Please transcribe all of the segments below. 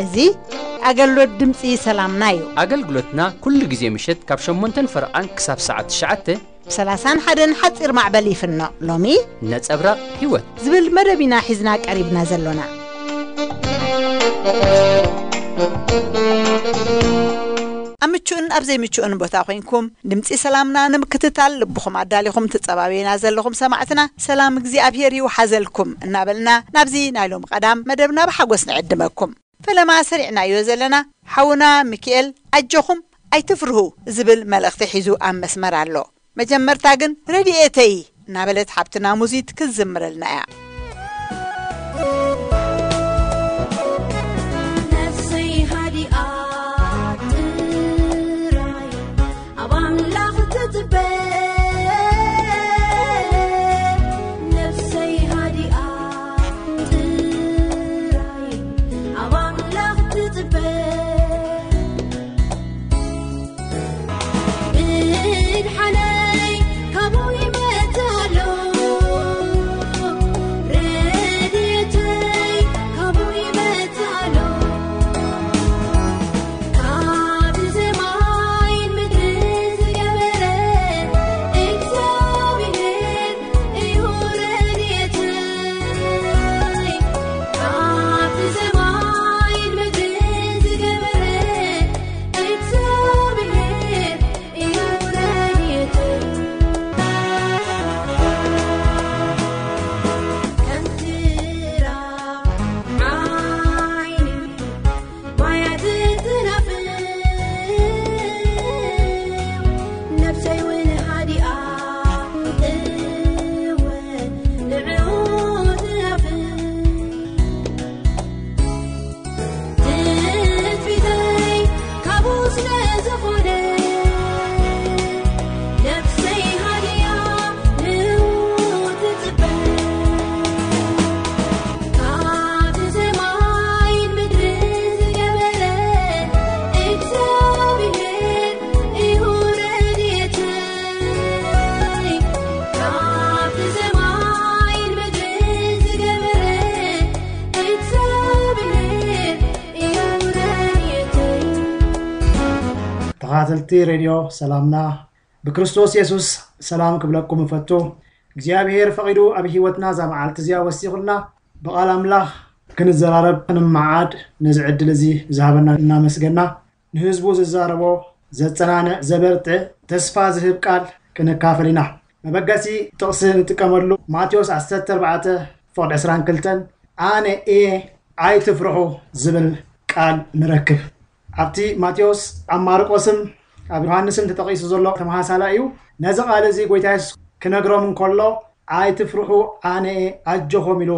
እዚ ኣገልግሎት ድምፂ ሰላምና እዩ። ኣገልግሎትና ኩሉ ግዜ ምሸት ካብ ሸሞንተን ፈረቓን ክሳብ ሰዓት ትሽዓተ ሰላሳን ሓደን ሓፂር ማዕበል ይፍኖ። ሎሚ ነጸብራቕ ህይወት ዝብል መደብ ኢና ሒዝና ቀሪብና ዘሎና። ኣብ ምቹእን ኣብ ዘይምቹእን ቦታ ኮይንኩም ድምፂ ሰላምና ንምክትታል ልብኹም ኣዳሊኹም ትጸባበዩና ዘለኹም ሰማዕትና፣ ሰላም እግዚኣብሔር ይውሓዘልኩም እናበልና ናብዚ ናይ ሎም ቀዳም መደብና ብሓጎስ ንዕድመኩም። ፈለማ ሰሪዕናዮ ዘለና ሓውና ሚኪኤል ኣጆኹም ኣይትፍርሁ ዝብል መልእኽቲ ሒዙ ኣብ መስመር ኣሎ። መጀመርታ ግን ረድኤተይ እናበለት ሓብትና ሙዚት ክትዝምረልና እያ። ነፍሰይ ሃዲኣ ጥራይ ኣብ ኣምላኽ ትጽበ። ነፍሰይ ሃዲኣ ጥራይ ኣብ ኣምላኽ ትጽበ። ምድሓነይ ካብኡ ይመጽእ ኣሎ፣ ረድኤተይ ካብኡ ይመጽእ ኣሎ። ካብ ሰማይን ምድርን ዝገበረ እግዚኣብሔር እዩ ረድኤተይ። ካብ ሰማይን ምድርን ዝገበረ እግዚኣብሔር እዩ ረድኤተይ። ከም ትራብ ዓይኒ ማያት ትናፍቕ ነፍሰይ እውን ሃዲኣ፣ እወ፣ ንዕኡ ትናፍቕ። ትጽቢተይ ካብኡ ስለ ዝኾነ፣ ነፍሰይ ሃዲኣ ንኡ ትጽበ። ካብቲ ሰማይን ምድርን ዝገበረ እግዚኣብሔር እዩ ረድኤተይ። ካብቲ ሰማይን ምድርን ዝገበረ እግዚኣብሔር እዩ ረድኤተይ። ተኸታተልቲ ሬድዮ ሰላምና፣ ብክርስቶስ የሱስ ሰላም ክብለኩም እፈቱ። እግዚኣብሔር ፈቒዱ ኣብ ህይወትና እዛ መዓልቲ እዚኣ ወሲኹልና፣ ብቓል ኣምላኽ ክንዘራረብ፣ ክንመዓድ፣ ነዚ ዕድል እዚ ዝሃበና እናመስገና፣ ንህዝቡ ዝዛረቦ ዘጸናንዕ፣ ዘበርትዕ፣ ተስፋ ዝህብ ቃል ክንካፈል ኢና። መበገሲ ጥቕሲ ንጥቀመሉ፣ ማቴዎስ ዓሰርተ ኣርባዕተ ፍቕዲ ዕስራን ክልተን፣ ኣነ እየ ኣይትፍርሑ ዝብል ቃል ንረክብ። ኣብቲ ማቴዎስ፣ ኣብ ማርቆስን ኣብ ዮሃንስን ተጠቒሱ ዘሎ ተመሳሳሊ እዩ። ነዚ ቃል እዚ ጎይታ የሱስ ክነግሮም እንከሎ፣ ኣይትፍርሑ፣ ኣነ እየ፣ ኣጆኹም ኢሉ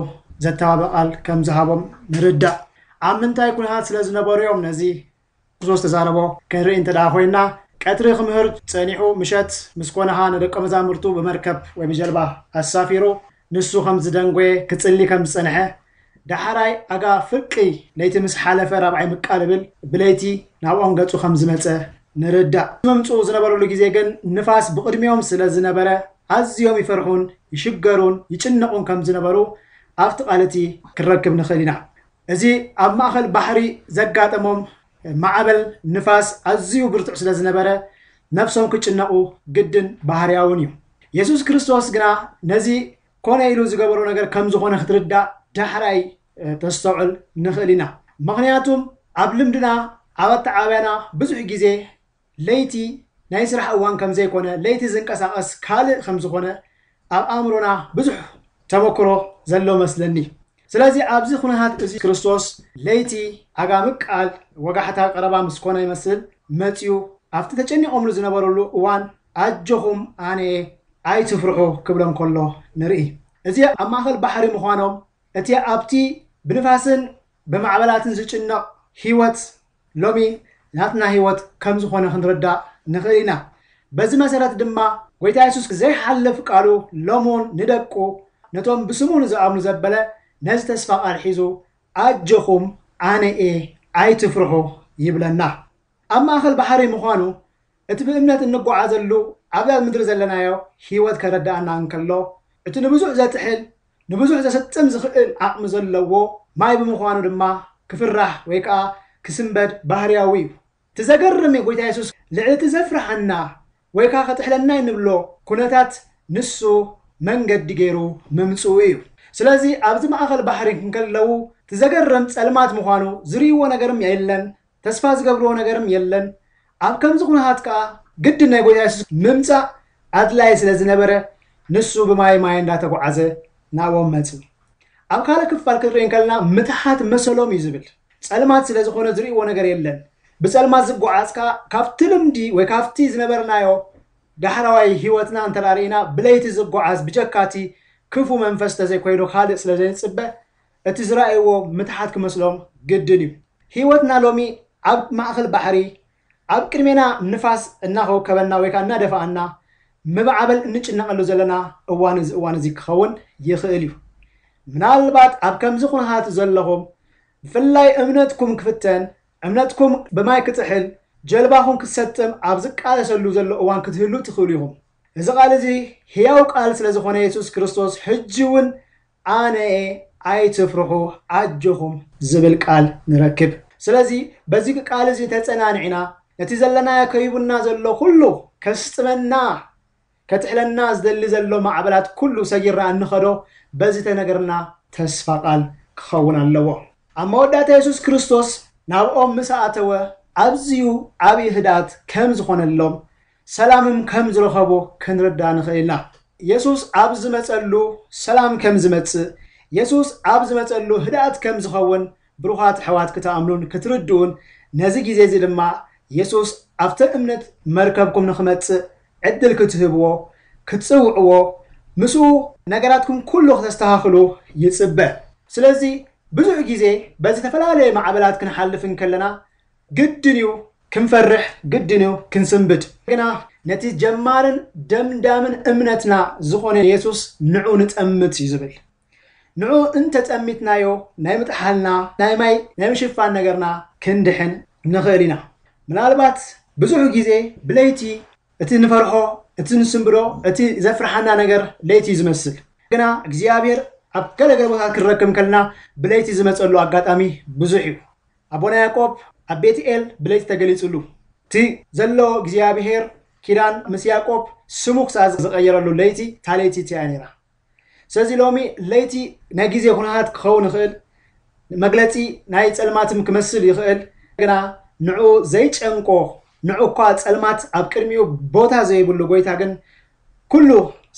ዘተባብዕ ቃል ከም ዝሃቦም ንርዳእ። ኣብ ምንታይ ኩነታት ስለ ዝነበሩ እዮም ነዚ ክርስቶስ ተዛረቦ ክንርኢ እንተ ደኣ ኮይንና፣ ቀትሪ ክምህር ጸኒሑ፣ ምሸት ምስ ኮነኻ ንደቀ መዛሙርቱ ብመርከብ ወይ ብጀልባ ኣሳፊሩ፣ ንሱ ከም ዝደንጎየ፣ ክጽሊ ከም ዝጸንሐ፣ ዳሕራይ ኣጋ ፍርቂ ለይቲ ምስ ሓለፈ ራብዓይ ምቃልብል ብለይቲ ናብኦም ገጹ ከም ዝመጸ ንርዳእ። ምምጽኡ ዝነበረሉ ግዜ ግን ንፋስ ብቕድሚኦም ስለ ዝነበረ ኣዝዮም ይፈርሑን ይሽገሩን ይጭነቑን ከም ዝነበሩ ኣብቲ ቃል እቲ ክንረክብ ንኽእል ኢና። እዚ ኣብ ማእከል ባሕሪ ዘጋጠሞም ማዕበል ንፋስ ኣዝዩ ብርቱዕ ስለ ዝነበረ ነፍሶም ክጭነቑ ግድን ባህርያውን እዩ። የሱስ ክርስቶስ ግና ነዚ ኮነ ኢሉ ዝገበሮ ነገር ከም ዝኾነ ክትርዳእ ዳሕራይ፣ እ፣ ተስተውዕል ንኽእል ኢና። ምኽንያቱም ኣብ ልምድና፣ ኣብ ኣተዓባብያና ብዙሕ ግዜ ለይቲ ናይ ስራሕ እዋን ከም ዘይኮነ፣ ለይቲ ዝንቀሳቐስ ካልእ ከም ዝኾነ ኣብ ኣእምሮና ብዙሕ ተመክሮ ዘሎ መስለኒ። ስለዚ ኣብዚ ኩነታት እዚ ክርስቶስ ለይቲ ኣጋ ምቃል ወጋሕታ ቀረባ ምስ ኮነ ይመስል መጺኡ ኣብቲ ተጨኒቖምሉ ዝነበረሉ እዋን ኣጆኹም ኣነ እየ ኣይትፍርሑ ክብሎም ከሎ ንርኢ። እዚ ኣብ ማእከል ባሕሪ ምዃኖም እቲ ኣብቲ ብንፋስን ብማዕበላትን ዝጭነቕ ህይወት ሎሚ ናትና ህይወት ከም ዝኾነ ክንርዳእ ንኽእል ኢና። በዚ መሰረት ድማ ጎይታ የሱስ ዘይሓልፍ ቃሉ ሎሙን ንደቁ ነቶም ብስሙ ንዝኣምኑ ዘበለ ነዚ ተስፋ ቃል ሒዙ ኣጆኹም ኣነ እየ ኣይትፍርሑ ይብለና። ኣብ ማእኸል ባሕሪ ምዃኑ እቲ ብእምነት እንጓዓዘሉ ኣብዛ ምድሪ ዘለናዮ ህይወት ከረዳኣና እንከሎ እቲ ንብዙሕ ዘጥሕል ንብዙሕ ዘሰጥም ዝኽእል ዓቕሚ ዘለዎ ማይ ብምዃኑ ድማ ክፍራሕ ወይ ከዓ ክስንበድ ባህርያዊ እዩ። እቲ ዘገርም ጎይታ የሱስ ልዕሊ እቲ ዘፍርሓና ወይ ከዓ ከጥሕለና እንብሎ ኩነታት ንሱ መንገዲ ገይሩ ምምፅኡ እዩ። ስለዚ ኣብዚ ማእኸል ባሕሪ እንከለዉ እቲ ዘገርም ፀልማት ምዃኑ ዝርእይዎ ነገርም የለን፣ ተስፋ ዝገብርዎ ነገርም የለን። ኣብ ከምዚ ኩነታት ከዓ ግድን ናይ ጎይታ የሱስ ምምፃእ ኣድላይ ስለ ዝነበረ ንሱ ብማይ ማይ እንዳተጓዓዘ ናብኦም መፅእ። ኣብ ካልእ ክፋል ክንርኢ እንከለና ምትሓት መሰሎም እዩ ዝብል። ፀልማት ስለ ዝኾነ ዝርእይዎ ነገር የለን። ብፀልማት ዝጓዓዝ ከዓ ካብቲ ልምዲ ወይ ካብቲ ዝነበርናዮ ዳሕራዋይ ህይወትና እንተ ርኢና ብለይቲ ዝጓዓዝ ብጀካቲ ክፉ መንፈስ ተዘይኮይኑ ካልእ ስለ ዘይንፅበ እቲ ዝረኣይዎ ምትሓት ክመስሎም ግድን እዩ። ህይወትና ሎሚ ኣብ ማእኸል ባሕሪ ኣብ ቅድሜና ንፋስ እናኸውከበና ወይ ከዓ እናደፋኣና ምባዕበል እንጭነቐሉ ዘለና እዋን እዚ እዋን እዚ ክኸውን ይኽእል እዩ። ምናልባት ኣብ ከምዚ ኩነታት ዘለኹም ብፍላይ እምነትኩም ክፍተን እምነትኩም ብማይ ክጥሕል ጀልባኹም ክትሰጥም ኣብ ዝቃለሰሉ ዘሎ እዋን ክትህሉ ትኽእሉ ኢኹም። እዚ ቃል እዚ ህያው ቃል ስለ ዝኾነ የሱስ ክርስቶስ ሕጂ እውን ኣነ እየ ኣይትፍርሑ ኣጆኹም ዝብል ቃል ንረክብ። ስለዚ በዚ ቃል እዚ ተጸናኒዕና ነቲ ዘለናዮ ከይቡና ዘሎ ኩሉ ከስጥመና ከጥሕለና ዝደሊ ዘሎ ማዕበላት ኩሉ ሰጊርና እንኸዶ በዚ ተነገርና ተስፋ ቃል ክኸውን ኣለዎ። ኣብ መወዳእታ የሱስ ክርስቶስ ናብኦም ምስ ኣተወ ኣዝዩ ዓብዪ ህድኣት ከም ዝኾነሎም ሰላምም ከም ዝረኸቡ ክንርዳ ንኽእል ኢና። የሱስ ኣብ ዝመጸሉ ሰላም ከም ዝመጽእ የሱስ ኣብ ዝመጸሉ ህድኣት ከም ዝኸውን ብሩኻት ኣሕዋት ክትኣምኑን ክትርድኡን ነዚ ግዜ እዚ ድማ የሱስ ኣብቲ እምነት መርከብኩም ንኽመጽእ ዕድል ክትህብዎ ክትጽውዕዎ ምስኡ ነገራትኩም ኩሉ ክተስተኻኽሉ ይጽበ። ስለዚ ብዙሕ ግዜ በዚ ዝተፈላለየ ማዕበላት ክንሓልፍ እንከለና ግድን እዩ ክንፈርሕ ግድን እዩ ክንስንብድ ግና ነቲ ጀማርን ደምዳምን እምነትና ዝኾነ የሱስ ንዑ ንጠምት እዩ ዝብል። ንዑ እንተጠሚትናዮ ናይ ምጥሓልና ናይ ማይ ናይ ምሽፋን ነገርና ክንድሕን ንኽእል ኢና። ምናልባት ብዙሕ ግዜ ብለይቲ እቲ ንፈርሖ እቲ ንስንብዶ እቲ ዘፍርሓና ነገር ለይቲ እዩ ዝመስል። ግና እግዚኣብሔር ኣብ ገለገለ ቦታ ክንረክብ ከልና ብለይቲ ዝመፀሉ ኣጋጣሚ ብዙሕ እዩ። ኣቦና ያዕቆብ ኣብ ቤትኤል ብለይቲ ተገሊፅሉ እቲ ዘሎ እግዚኣብሔር ኪዳን ምስ ያዕቆብ ስሙ ክሳዕ ዝቐየረሉ ለይቲ እታ ለይቲ እቲያ ነይራ። ስለዚ ሎሚ ለይቲ ናይ ግዜ ኩነታት ክኸውን ይኽእል፣ መግለፂ ናይ ፀልማትም ክመስል ይኽእል፣ ግና ንዑ ዘይጨንቆ ንዑ እኳ ፀልማት ኣብ ቅድሚኡ ቦታ ዘይብሉ ጎይታ ግን ኩሉ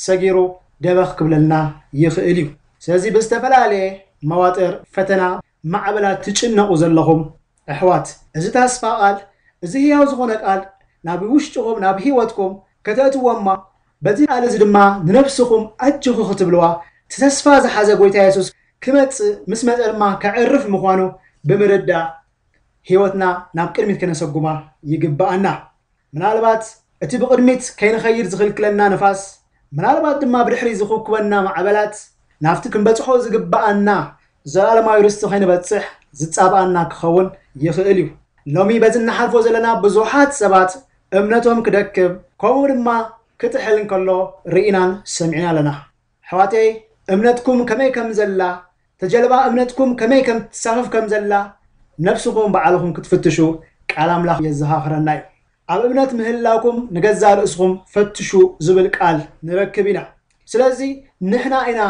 ሰጊሩ ደበኽ ክብለልና ይኽእል እዩ። ስለዚ ብዝተፈላለየ መዋጥር ፈተና ማዕበላት ትጭነቑ ዘለኹም ኣሕዋት፣ እዚ ተስፋ ቃል፣ እዚ ህያው ዝኾነ ቃል ናብ ውሽጥኹም፣ ናብ ህይወትኩም ከተእትዎ እማ፣ በዚ ቃል እዚ ድማ ንነፍስኹም ኣጆኹ ክትብልዋ፣ እቲ ተስፋ ዝሓዘ ጎይታ የሱስ ክመጽእ፣ ምስ መጸ ድማ ከዕርፍ ምዃኑ ብምርዳእ፣ ህይወትና ናብ ቅድሚት ከነሰጉማ ይግብኣና። ምናልባት እቲ ብቕድሚት ከይንኸይድ ዝኽልክለና ንፋስ፣ ምናልባት ድማ ብድሕሪት ዝኹብኩበና ማዕበላት፣ ናብቲ ክንበጽሖ ዝግብኣና ዘላለማዊ ርስቲ ከይንበጽሕ ዝጻብኣና ክኸውን ይኽእል እዩ። ሎሚ በዚ እንሓልፎ ዘለና ብዙሓት ሰባት እምነቶም ክደክም፣ ከምኡ ድማ ክጥሕል እንከሎ ርኢናን ሰሚዕና ኣለና። ኣሕዋተይ፣ እምነትኩም ከመይ ከም ዘላ፣ ተጀልባ እምነትኩም ከመይ ከም ትሳፈፍ ከም ዘላ፣ ነብስኹም ባዕልኹም ክትፍትሹ ቃል ኣምላኽ የዘኻኽረና እዩ። ኣብ እምነት ምህላውኩም ንገዛእ ርእስኹም ፈትሹ ዝብል ቃል ንረክብ ኢና። ስለዚ ንሕና ኢና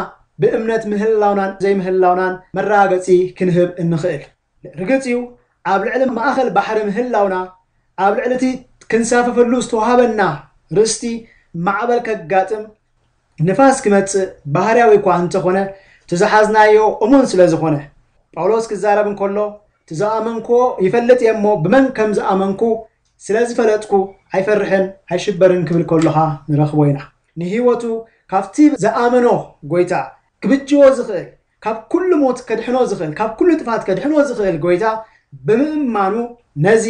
ብእምነት ምህላውናን ዘይምህላውናን መረጋገጺ ክንህብ እንኽእል። ርግጽ እዩ፣ ኣብ ልዕሊ ማእከል ባሕሪ ምህላውና፣ ኣብ ልዕሊ እቲ ክንሳፈፈሉ ዝተዋህበና ርስቲ ማዕበል ከጋጥም፣ ንፋስ ክመጽእ ባህርያዊ እኳ እንተኾነ፣ እቲ ዝሓዝናዮ እሙን ስለ ዝኾነ፣ ጳውሎስ ክዛረብ እንከሎ፣ እቲ ዝኣመንክዎ ይፈልጥ እየ እሞ፣ ብመን ከም ዝኣመንኩ ስለ ዝፈለጥኩ ኣይፈርሕን ኣይሽበርን ክብል ከሎ ኸኣ ንረኽቦ ኢና። ንህይወቱ ካብቲ ዝኣመኖ ጐይታ ክብጅዎ ዝኽእል፣ ካብ ኩሉ ሞት ከድሕኖ ዝኽእል፣ ካብ ኩሉ ጥፋት ከድሕኖ ዝኽእል ጐይታ ብምእማኑ ነዚ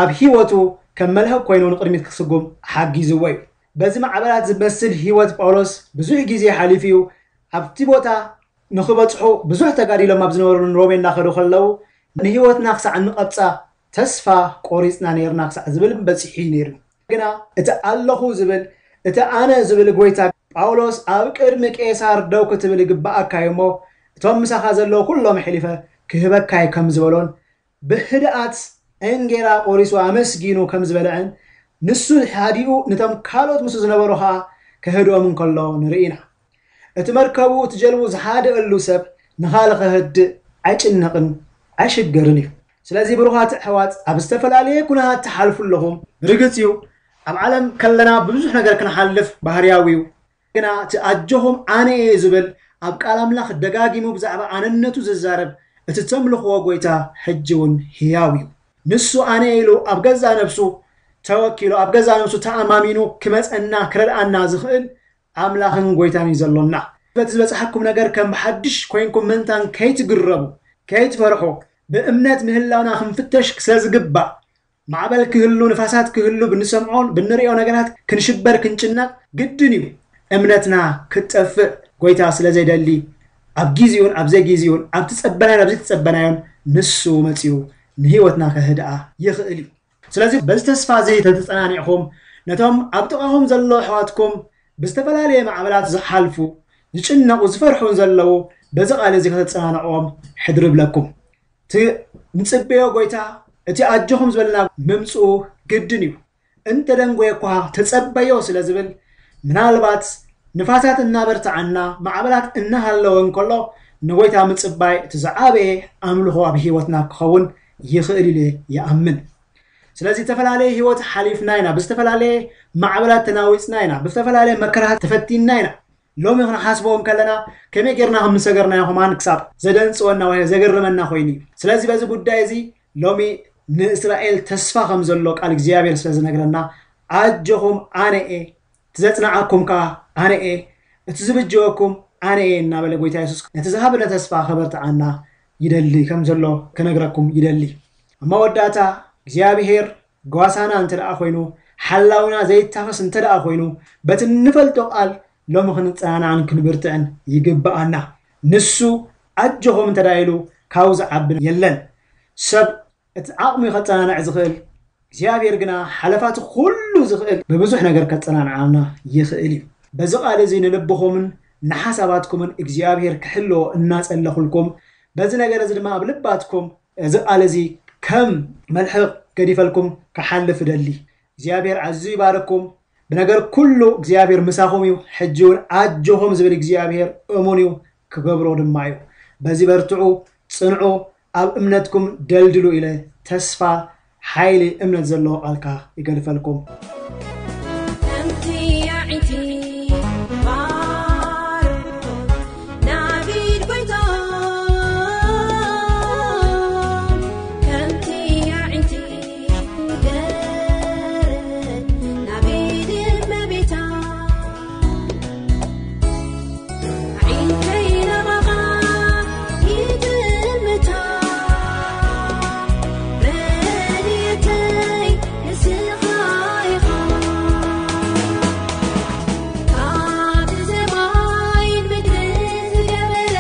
ኣብ ህይወቱ ከም መልህቕ ኮይኑ ንቕድሚት ክስጉም ሓጊዝዎ እዩ። በዚ ማዕበላት ዝመስል ህይወት ጳውሎስ ብዙሕ ግዜ ሓሊፉ እዩ። ኣብቲ ቦታ ንኽበጽሑ ብዙሕ ተጋዲሎም ኣብ ዝነበሩን ሮሜ እናኸዱ ከለዉ፣ ንህይወትና ክሳዕ እንቐብጻ ተስፋ ቆሪጽና ነይርና ክሳዕ ዝብል በጺሑ እዩ ነይሩ። ግና እቲ ኣለኹ ዝብል፣ እቲ ኣነ ዝብል ጎይታ፣ ጳውሎስ ኣብ ቅድሚ ቄሳር ደው ክትብል ይግብኣካ እዩ እሞ፣ እቶም ምሳኻ ዘለዉ ኩሎም ኣሕሊፈ ክህበካ እየ ከም ዝበሎን፣ ብህድኣት እንጌራ ቆሪሱ ኣመስጊኑ ከም ዝበልዐን፣ ንሱ ሓዲኡ ነቶም ካልኦት ምስኡ ዝነበሩ ኸኣ ከህድኦም እንከሎ ንርኢ ኢና። እቲ መርከቡ፣ እቲ ጀልቡ ዝሓደአሉ ሰብ ንኻልእ ኸህድእ ኣይጭነቕን ኣይሽገርን እዩ። ስለዚ ብሩኻት ኣሕዋት፣ ኣብ ዝተፈላለየ ኩነታት ትሓልፉ ኣለኹም። ርግጽ እዩ፣ ኣብ ዓለም ከለና ብብዙሕ ነገር ክንሓልፍ ባህርያዊ እዩ። ግና እቲ ኣጆኹም ኣነ እየ ዝብል፣ ኣብ ቃል ኣምላኽ ደጋጊሙ ብዛዕባ ኣነነቱ ዝዛረብ እቲ ተምልኽዎ ጎይታ ሕጂ እውን ህያው እዩ። ንሱ ኣነ ኢሉ ኣብ ገዛ ነብሱ ተወኪሉ፣ ኣብ ገዛ ነብሱ ተኣማሚኑ ክመጸና ክረድኣና ዝኽእል ኣምላኽን ጎይታን እዩ ዘሎና። በቲ ዝበጽሓኩም ነገር ከም ብሓድሽ ኮይንኩም ምእንታን ከይትግረሙ፣ ከይትፈርሑ፣ ብእምነት ምህላውና ክንፍተሽ ስለ ዝግባእ፣ ማዕበል ክህሉ፣ ንፋሳት ክህሉ፣ ብንሰምዖን ብንሪኦ ነገራት ክንሽበር ክንጭነቕ ግድን እዩ። እምነትና ክትጠፍእ ጎይታ ስለ ዘይደሊ፣ ኣብ ግዜኡን ኣብ ዘይግዜኡን፣ ኣብ ትጸበናዮን ኣብ ዘይትጸበናዮን ንሱ መጺኡ ንህይወትና ከህድኣ ይኽእል እዩ። ስለዚ በዚ ተስፋ እዚ ተተጸናኒዕኹም፣ ነቶም ኣብ ጥቓኹም ዘለዉ ኣሕዋትኩም ብዝተፈላለየ ማዕበላት ዝሓልፉ፣ ዝጭነቑ፣ ዝፈርሑን ዘለዉ፣ በዚ ቃል እዚ ከተጸናንዕዎም ሕድሪ እብለኩም። እቲ ንጽበዮ ጎይታ፣ እቲ ኣጆኹም ዝበለና ምምጽኡ ግድን እዩ። እንተደንጎየ እኳ ተጸበዮ ስለ ዝብል፣ ምናልባት ንፋሳት እናበርትዓና፣ ማዕበላት እናሃለወ እንከሎ፣ ንጎይታ ምጽባይ እቲ ዝዓበየ ኣምልኾ ኣብ ህይወትና ክኸውን ይኽእል ኢለ ይኣምን። ስለዚ ዝተፈላለየ ህይወት ሓሊፍና ኢና፣ ብዝተፈላለየ ማዕበላት ተናዊጽና ኢና፣ ብዝተፈላለየ መከራታት ተፈቲንና ኢና። ሎሚ ክንሓስቦ እንከለና ከመይ ጌርና ከም ዝሰገርናዮ ከማን ክሳብ ዘደንጽወና ወይ ዘገርመና ኮይኑ እዩ። ስለዚ በዚ ጉዳይ እዚ ሎሚ ንእስራኤል ተስፋ ከም ዘሎ ቃል እግዚኣብሔር ስለ ዝነግረና፣ ኣጆኹም ኣነ እየ፣ እቲ ዘጽንዓኩም ከኣ ኣነ እየ፣ እቲ ዝብጀወኩም ኣነ እየ እናበለ ጎይታ የሱስ ነቲ ዝሃበና ተስፋ ከበርትዓና ይደሊ ከም ዘሎ ክነግረኩም ይደሊ። ኣብ መወዳእታ እግዚኣብሔር ጓሳና እንተ ደኣ ኮይኑ፣ ሓላውና ዘይታኸስ እንተ ደኣ ኮይኑ፣ በቲ እንፈልጦ ቃል ሎሚ ክንጸናናዕን ክንብርትዕን ይግብኣና። ንሱ ኣጆኹም እንተ ደኣ ኢሉ ካብኡ ዝዓቢ የለን። ሰብ እቲ ዓቕሙ እዩ ከጸናንዕ ዝኽእል፣ እግዚኣብሔር ግና ሓለፋቲ ኩሉ ዝኽእል ብብዙሕ ነገር ከጸናንዓና ይኽእል እዩ። በዚ ቃል እዚ ንልብኹምን ንሓሳባትኩምን እግዚኣብሔር ክሕልዎ እናጸለኹልኩም፣ በዚ ነገር እዚ ድማ ኣብ ልባትኩም እዚ ቃል እዚ ከም መልሕቕ ገዲፈልኩም ክሓልፍ እደሊ። እግዚኣብሔር ኣዝዩ ይባርኩም። ብነገር ኩሉ እግዚኣብሔር ምሳኹም እዩ። ሕጂ እውን ኣጆኹም ዝብል እግዚኣብሔር እሙን እዩ፣ ክገብሮ ድማ እዩ። በዚ በርትዑ፣ ጽንዑ፣ ኣብ እምነትኩም ደልድሉ ኢለ ተስፋ፣ ሓይሊ፣ እምነት ዘለዎ ቃልካ ይገድፈልኩም። ከምቲ ያዒቲ ባርኮት ናቢድ ጎይታ፣ ከምቲ ያዒቲ ገረ ናቢድ እመቤታ፣ ዓይንተይ ናባኻ ይጥምታ፣ ረድኤተይ ንስኻ ኢኻ። ካብ ሰማይን ምድርን ዝገበረ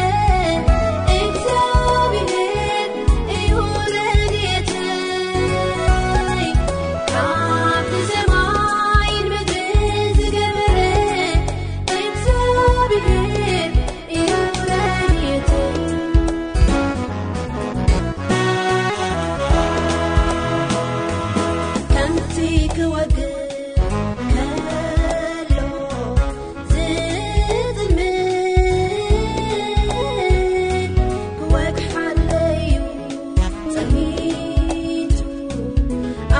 እግዚኣብሔር እዩ ረድኤተይ። ካብ ሰማይን ምድርን ዝገበረ እግዚኣብሔር እዩ ረድኤተይ። ከምቲ ክወግእ ከሎ ዝጥልምት ክወግሓለዩ ጸኒቱ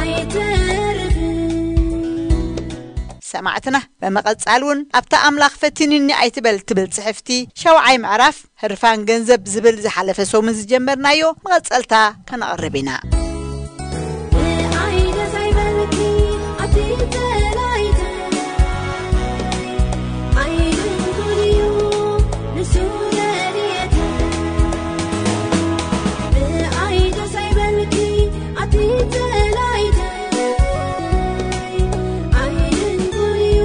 ኣይተርፍን። ሰማዕትና፣ በመቐጻል እውን ኣብታ ኣምላኽ ፈቲንኒ ኣይትበል ትብል ጽሕፍቲ ሸውዓይ ምዕራፍ ህርፋን ገንዘብ ዝብል ዝሓለፈ ሰሙን ዝጀመርናዮ መቐጸልታ ከነቕርብ ኢና። ብኣይነ ሳይበልኪ ኣቲ ተላይተ ኣይድንኩልዩ ንሱ ረድኤተ። ብኣይነ ሳይበልኪ ኣቲ ተላይተ ኣይድንኩልዩ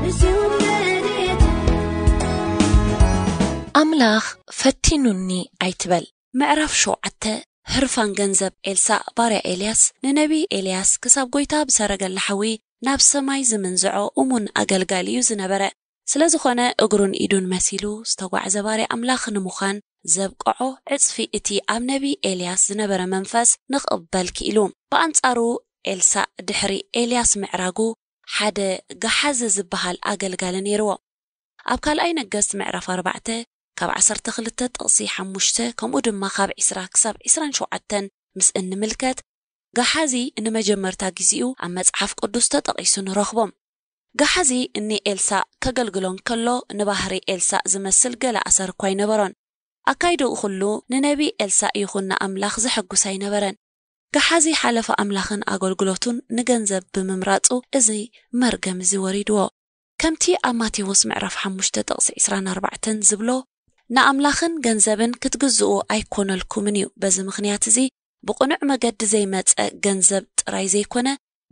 ንሱ ረድኤተ። ኣምላኽ ኑኒ ኣይትበል። ምዕራፍ ሸውዓተ። ህርፋን ገንዘብ ኤልሳእ ባርያ ኤልያስ። ንነቢ ኤልያስ ክሳብ ጎይታ ብሰረገላ ሓዊ ናብ ሰማይ ዝምንዝዖ እሙን ኣገልጋሊ እዩ ዝነበረ። ስለ ዝኾነ እግሩን ኢዱን መሲሉ ዝተጓዕዘ ባርያ ኣምላኽ ንምዃን ዘብቅዖ ዕጽፊ እቲ ኣብ ነቢ ኤልያስ ዝነበረ መንፈስ ንኽቕበል ክኢሉ። ብኣንጻሩ ኤልሳእ ድሕሪ ኤልያስ ምዕራጉ ሓደ ገሓዚ ዝበሃል ኣገልጋሊ ነይርዎ። ኣብ ካልኣይ ነገስት ምዕራፍ ኣርባዕተ ካብ ዓሰርተ ክልተ ጥቕሲ ሓሙሽተ ከምኡ ድማ ካብ ዕስራ ክሳብ ዕስራን ሸውዓተን ምስ እንምልከት ገሓዚ ንመጀመርታ ግዜኡ ኣብ መጽሓፍ ቅዱስ ተጠቒሱ ንረኽቦ። ገሓዚ ንኤልሳእ ከገልግሎ እንከሎ ንባህሪ ኤልሳእ ዝመስል ገለ ኣሰር እኳ ኣይነበሮን። ኣካይድኡ ኩሉ ንነቢ ኤልሳእ ይኹን ንኣምላኽ ዘሐጉስ ኣይነበረን። ገሓዚ ሓለፋ ኣምላኽን ኣገልግሎቱን ንገንዘብ ብምምራጹ እዚ መርገም እዚ ወሪድዎ። ከምቲ ኣብ ማቴዎስ ምዕራፍ ሓሙሽተ ጥቕሲ ዕስራን ኣርባዕተን ዝብሎ ንኣምላኽን ገንዘብን ክትግዝኡ ኣይኮነልኩምን እዩ። በዚ ምኽንያት እዚ ብቕኑዕ መገዲ ዘይመጸ ገንዘብ ጥራይ ዘይኮነ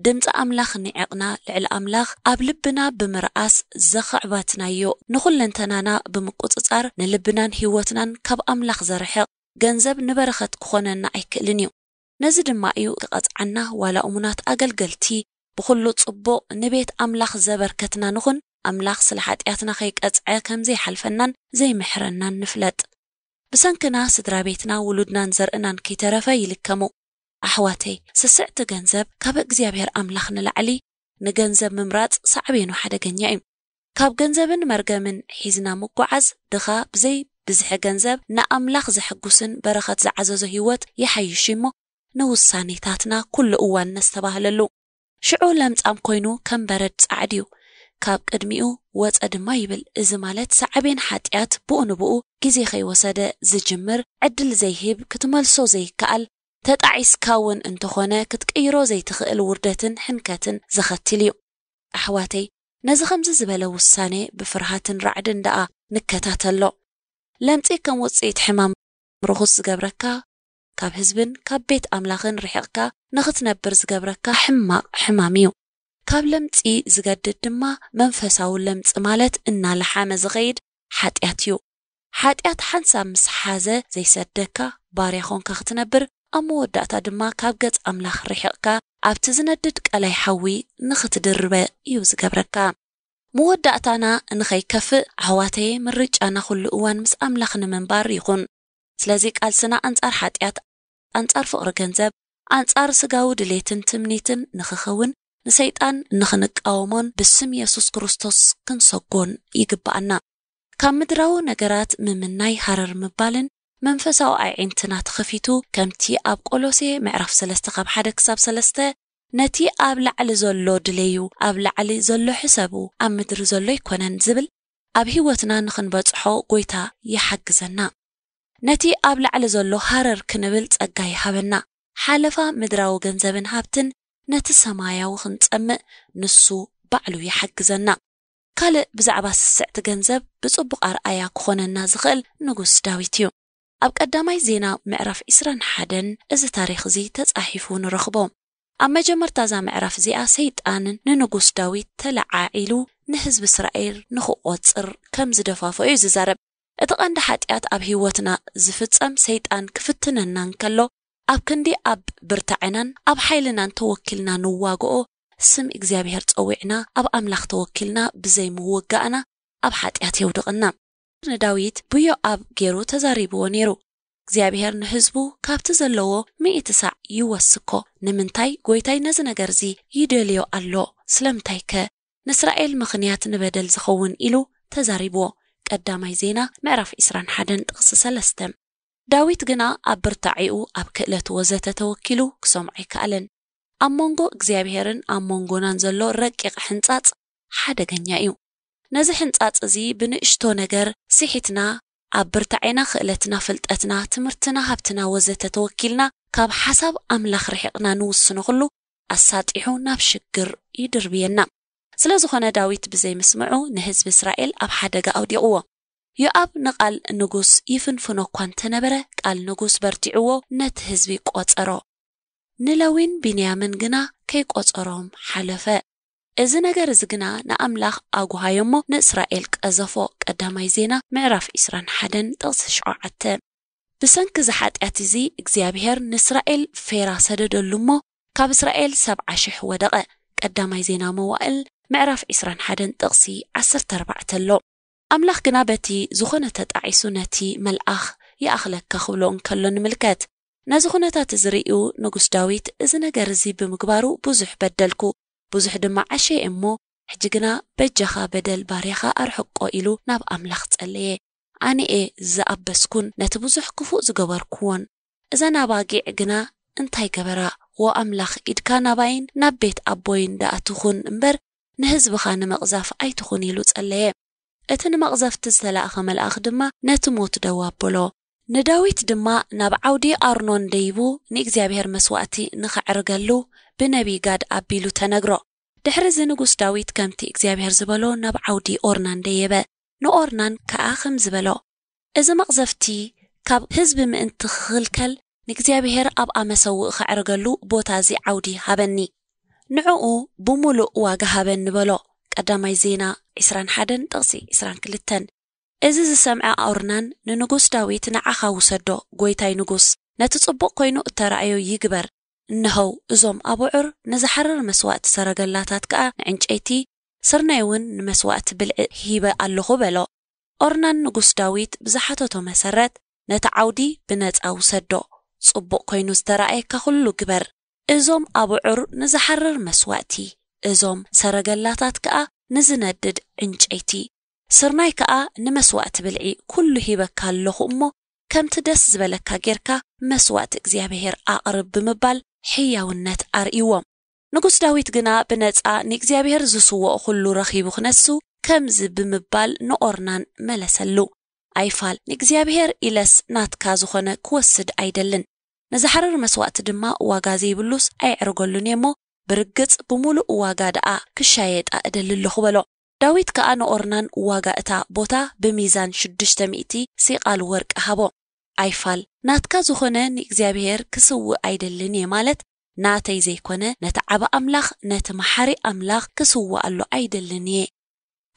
ድምፂ ኣምላኽ ንዒቕና ልዕሊ ኣምላኽ ኣብ ልብና ብምርኣስ ዘኸዕባትናዮ ንኹለንተናና ብምቁፅፃር ንልብናን ህይወትናን ካብ ኣምላኽ ዘርሕቕ ገንዘብ ንበረኸት ክኾነና ኣይክእልን እዩ። ነዚ ድማ እዩ ክቐፅዓና ዋላ እሙናት ኣገልገልቲ ብኹሉ ፅቡቕ ንቤት ኣምላኽ ዘበርከትና ንኹን ኣምላኽ ስለ ሓጢኣትና ከይቀፅዐ ከም ዘይሓልፈናን ዘይምሕረናን ንፍለጥ። ብሰንክና ስድራ ቤትና ውሉድናን ዘርእናን ከይተረፈ ይልከሙ። ኣሕዋተይ ስስዕቲ ገንዘብ ካብ እግዚኣብሔር ኣምላኽ ንላዕሊ ንገንዘብ ምምራጽ ሳዕቤኑ ሓደገኛ እዩ። ካብ ገንዘብን መርገምን ሒዝና ምጓዓዝ ድኻ ብዘይ ብዝሒ ገንዘብ ንኣምላኽ ዘሐጉስን በረኸት ዝዓዘዞ ህይወት ይሓይሽ እሞ ንውሳኔታትና ኩሉ እዋን ነስተባህለሉ። ሽዑ ለምጻም ኮይኑ ከም በረድ ጻዕድ እዩ፣ ካብ ቅድሚኡ ወጸ ድማ ይብል። እዚ ማለት ሳዕቤን ሓጢኣት ብኡ ንብኡ ግዜ ከይወሰደ ዝጅምር፣ ዕድል ዘይህብ፣ ክትመልሶ ዘይከኣል፣ ተጣዒስካ እውን እንተኾነ ክትቅይሮ ዘይትኽእል ውርደትን ሕንከትን ዘኸትል እዩ። ኣሕዋተይ ነዚ ከምዚ ዝበለ ውሳኔ ብፍርሃትን ራዕድን ደኣ ንከታተሎ። ለምጺ ከም ውጽኢት ሕማም ርኹስ ዝገብረካ፣ ካብ ህዝብን ካብ ቤት ኣምላኽን ርሒቕካ ንኽትነብር ዝገብረካ ሕማቕ ሕማም እዩ። ካብ ለምጺ ዝገድድ ድማ መንፈሳዊ ለምጺ ማለት እናለሓመ ዝኸይድ ሓጢኣት እዩ። ሓጢኣት ሓንሳብ ምስ ሓዘ ዘይሰደካ ባርያ ኾንካ ክትነብር፣ ኣብ መወዳእታ ድማ ካብ ገጽ ኣምላኽ ርሒቕካ ኣብቲ ዝነድድ ቀላይ ሓዊ ንኽትድርበ እዩ ዝገብረካ። መወዳእታና ንኸይከፍእ ኣሕዋተየ ምርጫና ኩሉ እዋን ምስ ኣምላኽ ንምንባር ይኹን። ስለዚ ቃልስና ኣንጻር ሓጢኣት፣ ኣንጻር ፍቕሪ ገንዘብ፣ ኣንጻር ስጋዊ ድሌትን ትምኒትን ንኽኸውን ንሰይጣን ንኽንቃወሞን ብስም የሱስ ክርስቶስ ክንሰጎን ይግብኣና። ካብ ምድራዊ ነገራት ምምናይ ሃረር ምባልን መንፈሳዊ ኣዒንትና ተኸፊቱ ከምቲ ኣብ ቆሎሴ ምዕራፍ ሰለስተ ካብ ሓደ ክሳብ ሰለስተ ነቲ ኣብ ላዕሊ ዘሎ ድለዩ፣ ኣብ ላዕሊ ዘሎ ሕሰቡ፣ ኣብ ምድሪ ዘሎ ኣይኮነን ዝብል ኣብ ህይወትና ንኽንበጽሖ ጎይታ ይሓግዘና። ነቲ ኣብ ላዕሊ ዘሎ ሃረር ክንብል ጸጋ ይሃበና። ሓለፋ ምድራዊ ገንዘብን ሃብትን ነቲ ሰማያዊ ክንጸምእ ንሱ ባዕሉ ይሓግዘና። ካልእ ብዛዕባ ስስዕቲ ገንዘብ ብጽቡቕ ኣርኣያ ክኾነና ዝኽእል ንጉስ ዳዊት እዩ። ኣብ ቀዳማይ ዜና ምዕራፍ ዕስራን ሓደን እዚ ታሪኽ እዚ ተጻሒፉ ንረኽቦ። ኣብ መጀመርታ እዛ ምዕራፍ እዚኣ ሰይጣን ንንጉስ ዳዊት ተለዓዒሉ ንህዝቢ እስራኤል ንኽቖጽር ከም ዝደፋፍኦ እዩ ዝዛረብ። እቲ ቀንዲ ሓጢኣት ኣብ ህይወትና ዝፍጸም ሰይጣን ክፍትነና እንከሎ ኣብ ክንዲ ኣብ ብርታዕናን ኣብ ሓይልናን ተወኪልና ንዋግኦ ስም እግዚኣብሔር ጸዊዕና ኣብ ኣምላኽ ተወኪልና ብዘይምውጋእና ኣብ ሓጢኣት የውድቕና። ንዳዊት ብዮኣብ ገይሩ ተዛሪብዎ ነይሩ። እግዚኣብሔር ንህዝቡ ካብቲ ዘለዎ ሚእቲ ሳዕ ይወስኮ። ንምንታይ ጎይታይ ነዚ ነገር እዚ ይደልዮ ኣሎ? ስለምንታይከ? ንእስራኤል ምኽንያት ንበደል ዝኸውን ኢሉ ተዛሪብዎ። ቀዳማይ ዜና ምዕራፍ ዕስራን ሓደን ጥቕሲ ሰለስተ። ዳዊት ግና ኣብ ብርታዒኡ ኣብ ክእለት ወዘተ ተወኪሉ ክሰምዖ ኣይከኣለን። ኣብ መንጎ እግዚኣብሔርን ኣብ መንጎናን ዘሎ ረቂቕ ሕንጻጽ ሓደገኛ እዩ። ነዚ ሕንጻጽ እዚ ብንእሽቶ ነገር ስሒትና ኣብ ብርታዔና ክእለትና ፍልጠትና ትምህርትና ሃብትና ወዘተ ተወኪልና ካብ ሓሳብ ኣምላኽ ርሒቕና ንውስኖ ኩሉ ኣሳጢሑ ናብ ሽግር ይድርብየና። ስለ ዝኾነ ዳዊት ብዘይምስምዑ ንህዝቢ እስራኤል ኣብ ሓደጋ ኣውዲቕዎ። ዮኣብ ንቓል ንጉስ ይፍንፍኖ እኳ እንተነበረ ቃል ንጉስ በርቲዕዎ ነቲ ህዝቢ ቆጸሮ። ንለዊን ቢንያምን ግና ከይቆጸሮም ሓለፈ። እዚ ነገር እዚ ግና ንኣምላኽ ኣጉሃዮ እሞ ንእስራኤል ቀዘፎ። ቀዳማይ ዜና ምዕራፍ ዕስራን ሓደን ጥቕሲ ሸውዓተ። ብሰንኪ እዚ ሓጢኣት እዚ እግዚኣብሔር ንእስራኤል ፌራ ሰደደሉ እሞ ካብ እስራኤል ሰብዓ ሽሕ ወደቐ። ቀዳማይ ዜና መዋእል ምዕራፍ ዕስራን ሓደን ጥቕሲ ዓሰርተ ኣርባዕተ ኣሎ። ኣምላኽ ግና በቲ ዝኾነ ተጣዒሱ ነቲ መልኣኽ ይኣኽለካ ክብሎ እንከሎ ንምልከት። ነዚ ኩነታት እዚ ርእዩ ንጉስ ዳዊት እዚ ነገር እዚ ብምግባሩ ብዙሕ በደልኩ፣ ብዙሕ ድማ ዓሸየ እሞ ሕጂ ግና በጃኻ በደል ባርያኻ ኣርሕቆ ኢሉ ናብ ኣምላኽ ጸለየ። ኣነ'የ ዝኣበስኩን ነቲ ብዙሕ ክፉእ ዝገበርኩዎን። እዘን ኣባጊዕ ግና እንታይ ገበራ? ዎ ኣምላኽ፣ ኢድካ ናባይን ናብ ቤት ኣቦይን ደኣ ትኹን እምበር ንህዝብኻ ንመቕዛፍ ኣይትኹን ኢሉ ጸለየ። እቲ ንመቕዘፍቲ ዝተላእኸ መልኣኽ ድማ ነቲ ሞት ደው ኣበሎ። ንዳዊት ድማ ናብ ዓውዲ ኣርኖን ደይቡ ንእግዚኣብሔር መስዋእቲ ንኸዕርገሉ ብነቢይ ጋድ ኣቢሉ ተነግሮ። ድሕሪ እዚ ንጉስ ዳዊት ከምቲ እግዚኣብሔር ዝበሎ ናብ ዓውዲ ኦርናን ደየበ። ንኦርናን ከኣ ከምዚ በሎ፣ እዚ መቕዘፍቲ ካብ ህዝቢ ምእንቲ ክኽልከል ንእግዚኣብሔር ኣብኣ መሰውእ ኸዕርገሉ ቦታ እዚ ዓውዲ ሃበኒ። ንዕኡ ብምሉእ ዋጋ ሃበኒ በሎ። ቀዳማይ ዜና ዕስራን ሓደን ጥቕሲ ዕስራን ክልተን። እዚ ዝሰምዐ ኦርናን ንንጉስ ዳዊት፣ ንዓኻ ውሰዶ፣ ጐይታይ ንጉስ፣ ነቲ ጽቡቕ ኮይኑ እተራእዮ ይግበር። እንሆው፣ እዞም ኣቡዑር ንዝሓርር መስዋእቲ ሰረገላታት ከኣ ንዕንጨይቲ፣ ስርናይ እውን ንመስዋእቲ ብልዒ ሂበ ኣለኹ በሎ። ኦርናን ንጉስ ዳዊት ብዝሓተቶ መሰረት ነቲ ዓውዲ ብነጻ ውሰዶ፣ ጽቡቕ ኮይኑ ዝተራእየካ ኩሉ ግበር። እዞም ኣቡዑር ንዝሓርር መስዋእቲ፣ እዞም ሰረገላታት ከኣ ንዝነድድ ዕንጨይቲ፣ ስርናይ ከኣ ንመስዋእቲ ብልዒ ኩሉ ሂበካ ኣለኹ እሞ ከምቲ ደስ ዝበለካ ጌርካ መስዋእቲ እግዚኣብሔር ኣቕርብ ብምባል ሕያውነት ኣርእይዎም። ንጉስ ዳዊት ግና ብነጻ ንእግዚኣብሔር ዝስውኦ ኩሉ ረኺቡ ክነሱ ከምዚ ብምባል ንኦርናን መለሰሉ፣ ኣይፋል፣ ንእግዚኣብሔር ኢለስ ናትካ ዝኾነ ክወስድ ኣይደልን። ንዝሓርር መስዋእቲ ድማ ዋጋ ዘይብሉስ ኣይዕርገሉን እየ እሞ ብርግጽ ብምሉእ ዋጋ ደኣ ክሻየጣ እደሊ ኣለኹ በሎ። ዳዊት ከኣ ንኦርናን ዋጋ እታ ቦታ ብሚዛን ሽዱሽተ ሚእቲ ሲቃል ወርቂ ሃቦ። ኣይፋል፣ ናትካ ዝኾነ ንእግዚኣብሔር ክስውእ ኣይደልን እየ ማለት ናተይ ዘይኮነ ነቲ ዓቢ ኣምላኽ ነቲ መሓሪ ኣምላኽ ክስውኣሉ ኣይደልን እየ።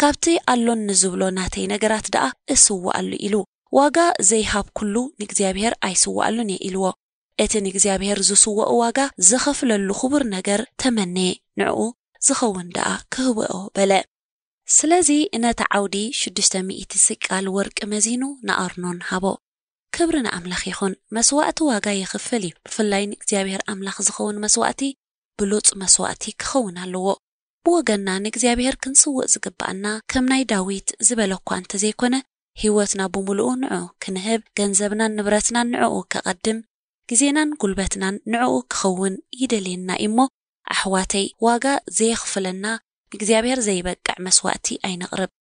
ካብቲ ኣሎኒ ዝብሎ ናተይ ነገራት ደኣ እስውኣሉ ኢሉ። ዋጋ ዘይሃብኩሉ ንእግዚኣብሔር ኣይስውኣሉን እየ ኢልዎ። እቲ ንእግዚኣብሔር ዝስውኦ ዋጋ ዝኸፍለሉ ክቡር ነገር ተመነየ፣ ንዕኡ ዝኸውን ደኣ ክህብኦ በለ። ስለዚ ነቲ ዓውዲ ሽዱሽተ ሚእቲ ስቃል ወርቂ መዚኑ ንኣርኖን ሃቦ። ክብሪ ንኣምላኽ ይኹን። መስዋእቲ ዋጋ የኽፍል እዩ። ብፍላይ ንእግዚኣብሔር ኣምላኽ ዝኸውን መስዋእቲ ብሉጽ መስዋእቲ ክኸውን ኣለዎ። ብወገንና ንእግዚኣብሔር ክንስውእ ዝግብኣና ከም ናይ ዳዊት ዝበለ እኳ እንተዘይኮነ፣ ህይወትና ብምሉኡ ንዕኡ ክንህብ፣ ገንዘብናን ንብረትናን ንዕኡ ከቐድም፣ ግዜናን ጉልበትናን ንዕኡ ክኸውን ይደልየና እዩ እሞ፣ ኣሕዋተይ፣ ዋጋ ዘየኽፍለና ንእግዚኣብሔር ዘይበቅዕ መስዋእቲ ኣይነቕርብ።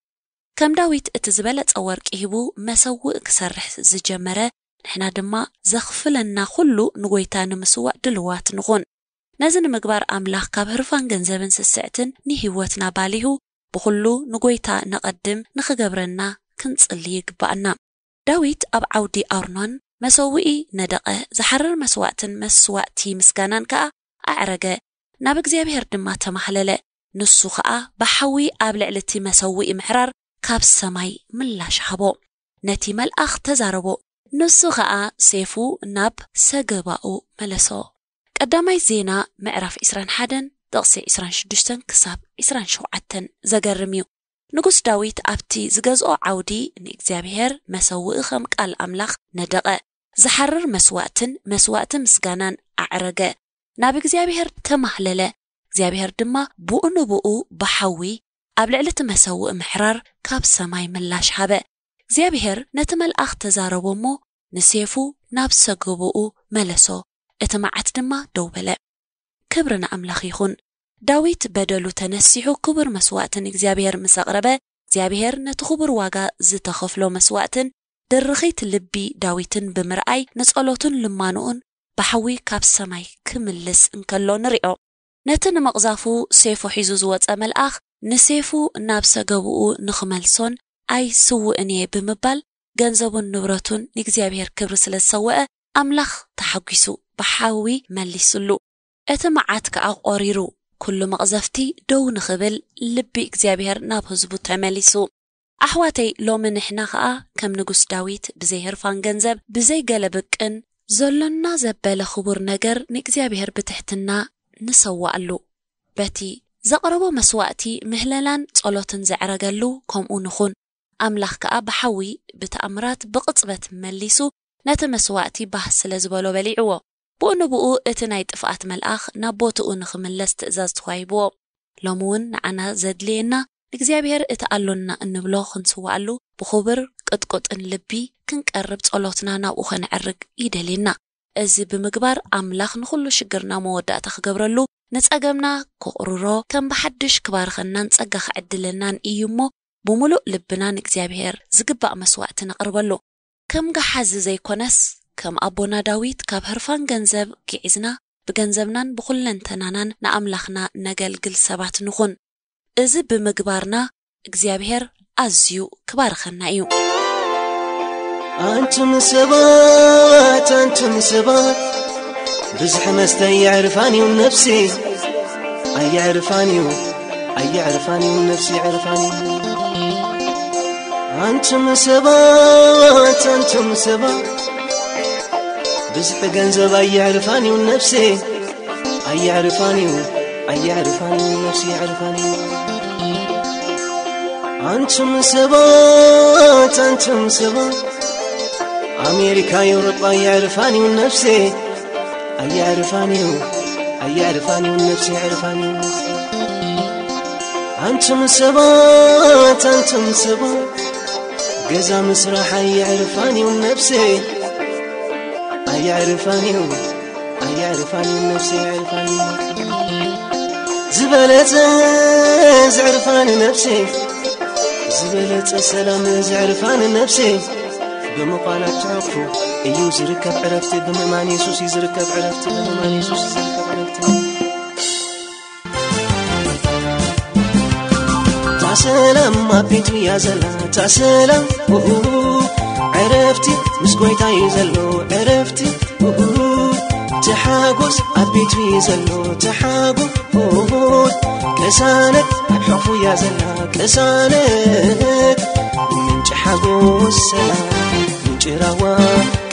ከም ዳዊት እቲ ዝበለጸ ወርቂ ሂቡ መሰውእ ክሰርሕ ዝጀመረ፣ ንሕና ድማ ዘኽፍለና ኩሉ ንጎይታ ንምስዋእ ድልዋት ንኹን። ነዚ ንምግባር ኣምላኽ ካብ ህርፋን ገንዘብን ስስዕትን ንህይወትና ባሊሁ ብኹሉ ንጎይታ ነቐድም ንኽገብረና ክንጽሊ ይግባኣና። ዳዊት ኣብ ዓውዲ ኣርኖን መሰውኢ ነደቐ፣ ዝሓርር መስዋእትን መስዋእቲ ምስጋናን ከኣ ኣዕረገ፣ ናብ እግዚኣብሔር ድማ ተማህለለ። ንሱ ኸኣ ብሓዊ ኣብ ልዕሊ እቲ መሰውኢ ምሕራር ካብ ሰማይ ምላሽ ሃቦ። ነቲ መልኣኽ ተዛረቦ፣ ንሱ ኸኣ ሴፉ ናብ ሰገባኡ መለሶ። ቀዳማይ ዜና ምዕራፍ ዕስራን ሓደን ጥቕሲ ዕስራን ሽዱሽተን ክሳብ ዕስራን ሸውዓተን። ዘገርም እዩ። ንጉስ ዳዊት ኣብቲ ዝገዝኦ ዓውዲ ንእግዚኣብሔር መሰውኢ ከም ቃል ኣምላኽ ነደቐ። ዝሓርር መስዋእትን መስዋእቲ ምስጋናን ኣዕረገ። ናብ እግዚኣብሔር ተማህለለ። እግዚኣብሔር ድማ ብኡ ንብኡ ብሓዊ ኣብ ልዕሊ እቲ መሰውኢ ምሕራር ካብ ሰማይ ምላሽ ሃበ። እግዚኣብሔር ነቲ መልኣኽ ተዛረቦ እሞ ንሴፉ ናብ ሰገቦኡ መለሶ። እቲ መዓት ድማ ደው በለ። ክብሪ ንኣምላኽ ይኹን። ዳዊት በደሉ ተነሲሑ ክቡር መስዋእቲ ንእግዚኣብሔር ምስ ኣቕረበ፣ እግዚኣብሔር ነቲ ክቡር ዋጋ ዝተኸፍሎ መስዋእትን ድርኺት ልቢ ዳዊትን ብምርኣይ ንጸሎቱን ልማንኡን ብሓዊ ካብ ሰማይ ክምልስ እንከሎ ንሪኦ። ነቲ ንምቕዛፉ ሴፉ ሒዙ ዝወጸ መልኣኽ ንሴፉ ናብ ሰገብኡ ንኽመልሶን ኣይስውእን እየ ብምባል ገንዘቡን ንብረቱን ንእግዚኣብሔር ክብሪ ስለ ዝሰወአ ኣምላኽ ተሓጒሱ ብሓዊ መሊስሉ። እቲ መዓት ከኣ ቆሪሩ ኩሉ መቕዘፍቲ ደው ንኽብል ልቢ እግዚኣብሔር ናብ ህዝቡ ተመሊሱ። ኣሕዋተይ፣ ሎሚ ንሕና ኸኣ ከም ንጉስ ዳዊት ብዘይ ህርፋን ገንዘብ፣ ብዘይ ገለ ብቅን፣ ዘሎና ዘበለ ክቡር ነገር ንእግዚኣብሔር ብትሕትና ንሰዋኣሉ። በቲ ዘቕረቦ መስዋእቲ ምህለላን ጸሎትን ዘዕረገሉ ከምኡ ንኹን። ኣምላኽ ከኣ ብሓዊ ብተኣምራት ብቕጽበት መሊሱ ነቲ መስዋእቲ ባህ ስለ ዝበሎ በሊዕዎ። ብኡ ንብኡ እቲ ናይ ጥፍኣት መልኣኽ ናብ ቦትኡ ንኽምለስ ትእዛዝ ተዋሂብዎ። ሎሚ እውን ንዓና ዘድልየና እግዚኣብሔር እቲ ኣሎና እንብሎ ክንስዋኣሉ ብኽቡር ቅጥቁጥን ልቢ ክንቀርብ ጸሎትና ናብኡ ከነዕርግ ይደልየና። እዚ ብምግባር ኣምላኽ ንኹሉ ሽግርና መወዳእታ ክገብረሉ፣ ንጸገምና ክቕርሮ፣ ከም ብሓድሽ ክባርኸናን ጸጋ ክዕድለናን እዩ እሞ፣ ብምሉእ ልብና ንእግዚኣብሔር ዝግባእ መስዋእቲ ነቕርበሉ። ከም ገሓዚ ዘይኮነስ፣ ከም ኣቦና ዳዊት ካብ ህርፋን ገንዘብ ግዒዝና፣ ብገንዘብናን ብኹለንተናናን ንኣምላኽና ነገልግል ሰባት ንኹን። እዚ ብምግባርና እግዚኣብሔር ኣዝዩ ክባርኸና እዩ። ኣንቱም ሰባት፣ ኣንቱም ሰባት፣ ብዝሒ መስተ የዕርፋን እዩ ነፍሲ፣ ኣየዕርፋን እዩ፣ ኣየዕርፋን እዩ ነፍሲ፣ የዕርፋን እዩ። ኣንቱም ሰባት፣ ኣንቱም ሰባት፣ ብዝሒ ገንዘብ ኣየዕርፋን እዩ ነፍሲ፣ ኣየዕርፋን እዩ፣ ኣየዕርፋን እዩ ነፍሲ፣ የዕርፋን እዩ። ኣንቱም ሰባት፣ ኣንቱም ሰባት፣ ኣሜሪካ፣ ኤውሮጳ የዕርፋን እዩ ነፍሲ፣ ኣየዕርፋን እዩ፣ ኣየዕርፋን እዩ ነፍሲ፣ የዕርፋን እዩ። ኣንቱም ሰባት፣ ኣንቱም ሰባት፣ ገዛ ምስራሕ ኣየዕርፋን እዩ ነፍሲ፣ ኣየዕርፋን እዩ፣ ኣየዕርፋን እዩ ነፍሲ፣ ኣየዕርፋን እዩ። ዝበለጸ ዘዕርፋን ነፍሲ፣ ዝበለጸ ሰላም ዘዕርፋን ነፍሲ፣ ብምዃና ትዕርፉ እዩ ዝርከብ ዕረፍቲ፣ ብምእማን የሱስ እዩ ዝርከብ ዕረፍቲ፣ ብምእማን የሱስ እዩ ዝርከብ ዕረፍቲ። እታ ሰላም ኣብ ቤቱ እያ ዘላ፣ እታ ሰላም፣ ኡሁ፣ ዕረፍቲ ምስ ጎይታ እዩ ዘሎ፣ ዕረፍቲ፣ ኡሁ፣ እቲ ሓጎስ ኣብ ቤቱ እዩ ዘሎ፣ እቲ ሓጎስ ቅሳነት ኣብ ሕቑፉ እያ ዘላ፣ ቅሳነት ምንጪ ሓጎስ ሰላም፣ ምንጪ ራህዋ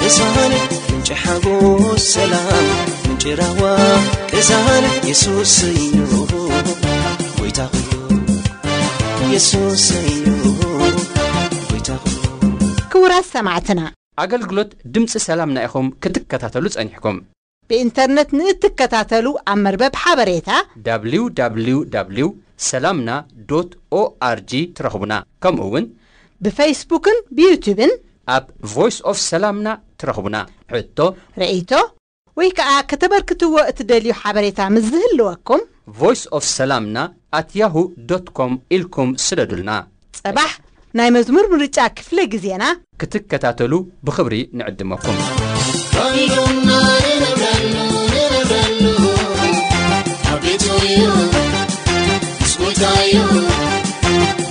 ቅሳነት፣ ምንጪ ሓጎስ ሰላም፣ ምንጪ ራህዋ ቅሳነት የሱስ እዩ፣ ጎይታ ኩሉ የሱስ እዩ፣ ጎይታ ኩሉ። ክቡራት ሰማዕትና፣ ኣገልግሎት ድምፂ ሰላምና ኢኹም ክትከታተሉ ጸኒሕኩም። ብኢንተርነት ንእትከታተሉ ኣብ መርበብ ሓበሬታ www ሰላምና ዶት ኦኣርጂ ትረኽቡና። ከምኡ እውን ብፌስቡክን ብዩቱብን ኣብ ቮይስ ኦፍ ሰላምና ትረኽቡና። ሕቶ፣ ርእይቶ ወይ ከዓ ከተበርክትዎ እትደልዩ ሓበሬታ ምስ ዝህልወኩም ቮይስ ኦፍ ሰላምና ኣት ያሁ ዶት ኮም ኢልኩም ስደዱልና። ጸባሕ ናይ መዝሙር ምርጫ ክፍለ ግዜና ክትከታተሉ ብኽብሪ ንዕድመኩም። ባቢሎንና ንነብረሉ፣ ንነብረሉ፣ ኣብ ቤቱ እዩ፣ ምስ ጎይታ እዩ፣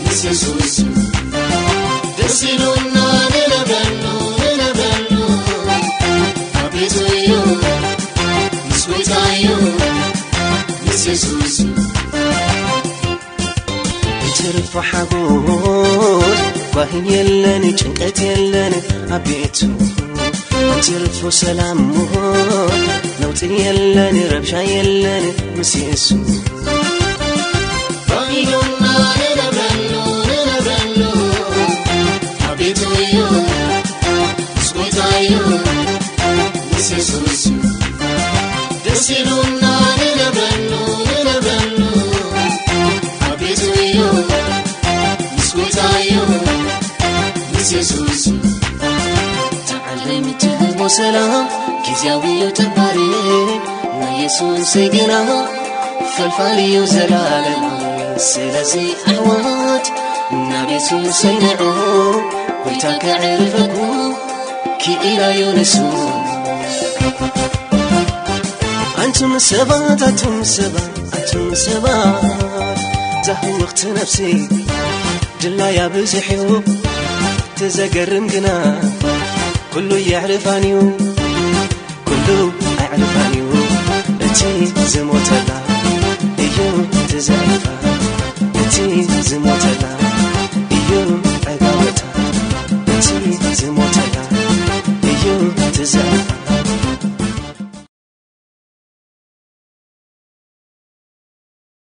ምስ የሱስ እዩ። ደስ ኢሉና ንነብረሉ፣ ንነብረሉ፣ ኣብ ቤቱ እዩ፣ ምስ ጎይታ እዩ፣ ምስ የሱስ እዩ። ትርፎ ሓጎስ ጓሂ የለን፣ ጭንቀት የለን ኣብ ቤቱ። ትርፎ ሰላም ነውጺ የለን፣ ረብሻ የለን ምስ የሱ። ባቢሎንና ንነብረሉ፣ ንነብረሉ ኣብ ቤቱ እዩ፣ ምስ ጎይታ እዩ፣ ምስ የሱስ እዩ። ደስ ኢሉና ንነብረሉ፣ ንነብረሉ ኣብ ቤቱ እዩ፣ ምስ ጎይታ እዩ፣ ምስ የሱስ እዩ። እታ ዓለም እትህቦ ሰላም ግዝያዊ እዩ፣ ጠባሪ ናይ የሱሰይ ግና ፈልፋሊ እዩ ዘላለማዊ። ስለዚ ኣሕዋት ናብ የሱሰይ ንዑ፣ ጎይታ ከዕርፈኩም ክኢላ እዩ ንሱ። ኣንቱም ሰባት፣ ኣንቱም ሰባት፣ ኣንቱም ሰባት፣ እዛ ህውኽቲ ነፍሲ ድላያ ብዙሕ እዩ፣ እቲ ዘገርም ግና ኩሉ የዕርፋን እዩ።